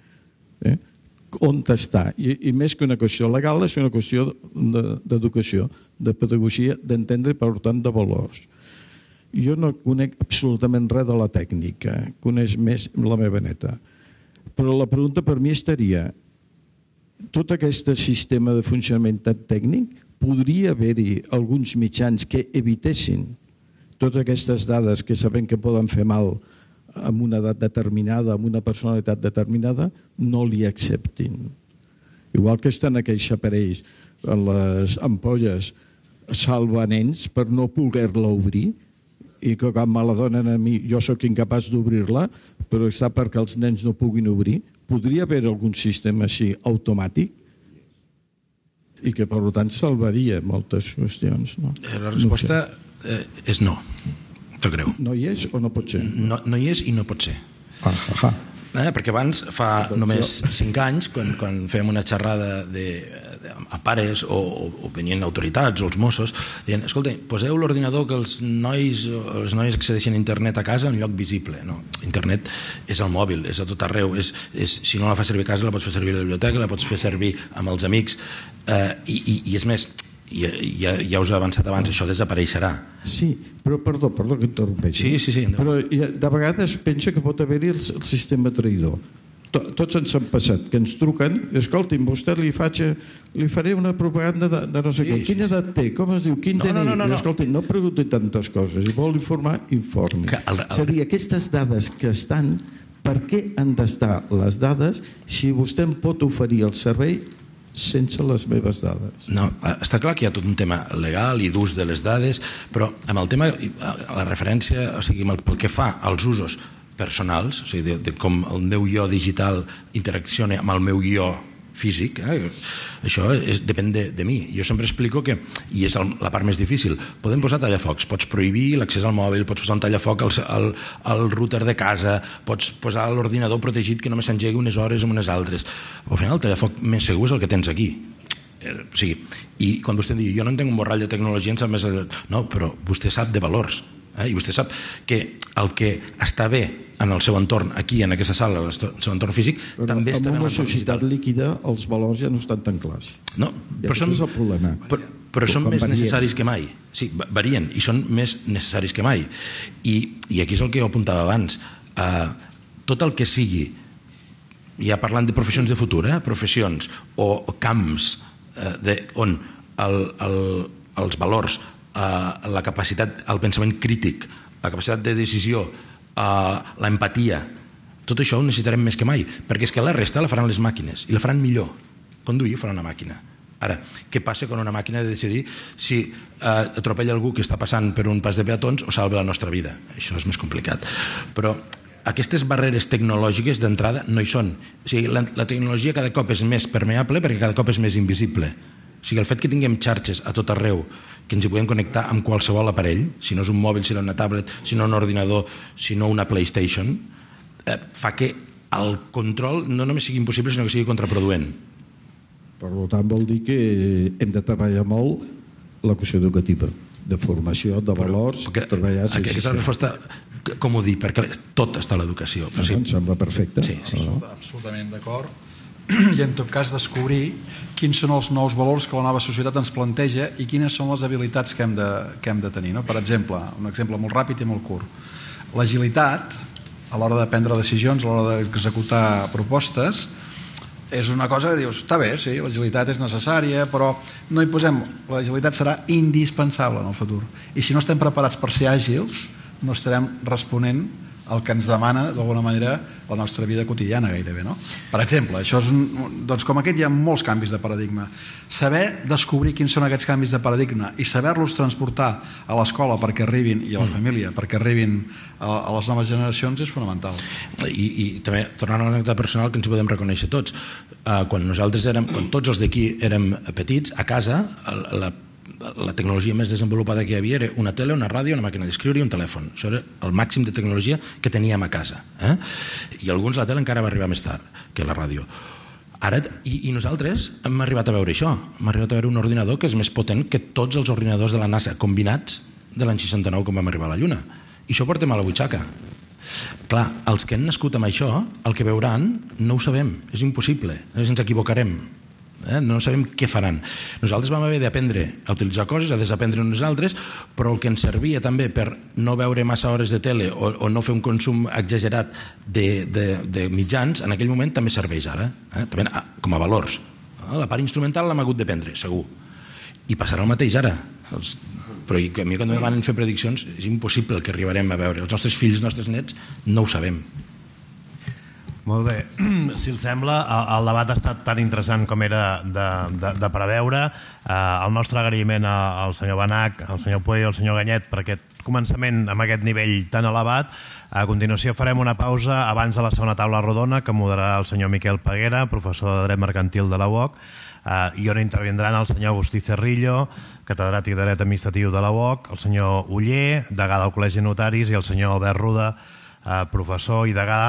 [SPEAKER 9] On està? I més que una qüestió legal és una qüestió d'educació, de pedagogia, d'entendre i per tant de valors. Jo no conec absolutament res de la tècnica, coneix més la meva neta. Però la pregunta per mi estaria, tot aquest sistema de funcionament tècnic, podria haver-hi alguns mitjans que evitessin totes aquestes dades que sabem que poden fer mal amb una edat determinada, amb una personalitat determinada, no li acceptin. Igual que estan aquells aparells, les ampolles, salva nens per no poder-la obrir, i que quan me la donen a mi jo sóc incapaç d'obrir-la, però està perquè els nens no puguin obrir. Podria haver algun sistema així automàtic i que per tant salvaria moltes qüestions.
[SPEAKER 6] La resposta és no. T'ho creu.
[SPEAKER 9] No hi és o no pot ser?
[SPEAKER 6] No hi és i no pot ser. perquè abans, fa només 5 anys, quan fèiem una xerrada a pares o venien autoritats o els Mossos, deien, escolta, poseu l'ordinador que els nois accedeixen a internet a casa en lloc visible. No, internet és al mòbil, és a tot arreu, si no la fas servir a casa la pots fer servir a la biblioteca, la pots fer servir amb els amics, i és més, ja us he avançat abans, això desapareixerà.
[SPEAKER 9] Sí, però perdó que interrompeixi.
[SPEAKER 6] Sí.
[SPEAKER 9] Però de vegades pensa que pot haver-hi el sistema traïdor. Tots ens han passat, que ens truquen, escolti'm, vostè li faré una propaganda de no sé què. Quina edat té? Com es diu? Quin DNI? Escolti'm, no pregunti tantes coses. Si vol informar, informi. És a dir, aquestes dades que estan, per què han d'estar les dades si vostè em pot oferir el servei sense les meves dades?
[SPEAKER 6] No, està clar que hi ha tot un tema legal i d'ús de les dades, però amb el tema, la referència, o sigui, pel que fa als usos personals, o sigui, de com el meu jo digital interacciona amb el meu jo físic, això depèn de mi. Jo sempre explico que, i és la part més difícil, podem posar tallafocs, pots prohibir l'accés al mòbil, pots posar un tallafoc al router de casa, pots posar l'ordinador protegit que només s'engegui unes hores o unes altres. Al final el tallafoc més segur és el que tens aquí. O sigui, i quan vostè diu, jo no entenc un borrall de tecnologia, en sap més... No, però vostè sap de valors. I vostè sap que el que està bé en el seu entorn, aquí, en aquesta sala, en el seu entorn físic, també està bé en
[SPEAKER 9] una
[SPEAKER 6] l'entorn
[SPEAKER 9] societat líquida els valors ja no estan tan clars.
[SPEAKER 6] No, però és el problema. Però són més necessaris que mai. Sí, varien i són més necessaris que mai. I aquí és el que jo apuntava abans. Tot el que sigui, ja parlant de professions de futur, professions o camps on els valors, la capacitat, el pensament crític, la capacitat de decisió, l'empatia, tot això ho necessitarem més que mai, perquè és que la resta la faran les màquines i la faran millor. Conduir ho farà una màquina. Ara, què passa quan una màquina ha de decidir si atropella algú que està passant per un pas de peatons o salva la nostra vida? Això és més complicat. Però aquestes barreres tecnològiques d'entrada no hi són. O sigui, la tecnologia cada cop és més permeable perquè cada cop és més invisible. O sigui, el fet que tinguem xarxes a tot arreu, que ens hi podem connectar amb qualsevol aparell, si no és un mòbil, si no és una tablet, si no un ordinador, si no una PlayStation, fa que el control no només sigui impossible, sinó que sigui contraproduent.
[SPEAKER 9] Per tant, vol dir que hem de treballar molt la qüestió educativa, de formació, de valors, treballar...
[SPEAKER 6] Aquesta resposta, com ho dic, perquè tot està a l'educació.
[SPEAKER 9] Em sembla perfecte.
[SPEAKER 6] Sí.
[SPEAKER 5] Absolutament d'acord. I en tot cas descobrir quins són els nous valors que la nova societat ens planteja i quines són les habilitats que hem de tenir. Per exemple, un exemple molt ràpid i molt curt. L'agilitat, a l'hora de prendre decisions, a l'hora d'executar propostes, és una cosa que dius, està bé, sí, l'agilitat és necessària, però no hi posem... L'agilitat serà indispensable en el futur. I si no estem preparats per ser àgils, no estarem responent el que ens demana, d'alguna manera, la nostra vida quotidiana gairebé, no? Per exemple, això és doncs com aquest hi ha molts canvis de paradigma. Saber descobrir quins són aquests canvis de paradigma i saber-los transportar a l'escola perquè arribin, i a la família, perquè arribin a les noves generacions és fonamental.
[SPEAKER 6] I també, tornant a l'anècdota personal, que ens podem reconèixer tots. Quan tots els d'aquí érem petits, a casa, la tecnologia més desenvolupada que hi havia era una tele, una ràdio, una màquina d'escriure i un telèfon. Això era el màxim de tecnologia que teníem a casa. I alguns la tele encara va arribar més tard que la ràdio. Ara, i nosaltres hem arribat a veure això. Hem arribat a veure un ordinador que és més potent que tots els ordinadors de la NASA combinats de l'any 69 quan vam arribar a la Lluna. I això ho portem a la butxaca. Clar, els que han nascut amb això, el que veuran, no ho sabem. És impossible. Ens equivocarem. No sabem què faran. Nosaltres vam haver d'aprendre a utilitzar coses, a desaprendre unes altres, però el que ens servia també per no veure massa hores de tele o no fer un consum exagerat de mitjans, en aquell moment també serveix ara, també com a valors. La part instrumental l'hem hagut d'aprendre, segur. I passarà el mateix ara. Però a mi quan van fer prediccions és impossible el que arribarem a veure. Els nostres fills, els nostres nets, no ho sabem.
[SPEAKER 1] Molt bé. Si els sembla, el debat ha estat tan interessant com era de preveure. El nostre agraïment al senyor Benach, al senyor Pueyo i al senyor Ganyet per aquest començament amb aquest nivell tan elevat. A continuació farem una pausa abans de la segona taula rodona que moderarà el senyor Miquel Peguera, professor de Dret Mercantil de la UOC, i on intervindran el senyor Agustí Cerrillo, catedràtic de Dret Administratiu de la UOC, el senyor Oller, degà del Col·legi de Notaris, i el senyor Albert Ruda, professor i degà,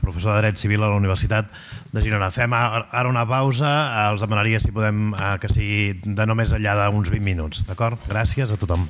[SPEAKER 1] professor de Dret Civil a la Universitat de Girona. Fem ara una pausa, els demanaria si podem que sigui de no més enllà d'uns 20 minuts, d'acord? Gràcies a tothom.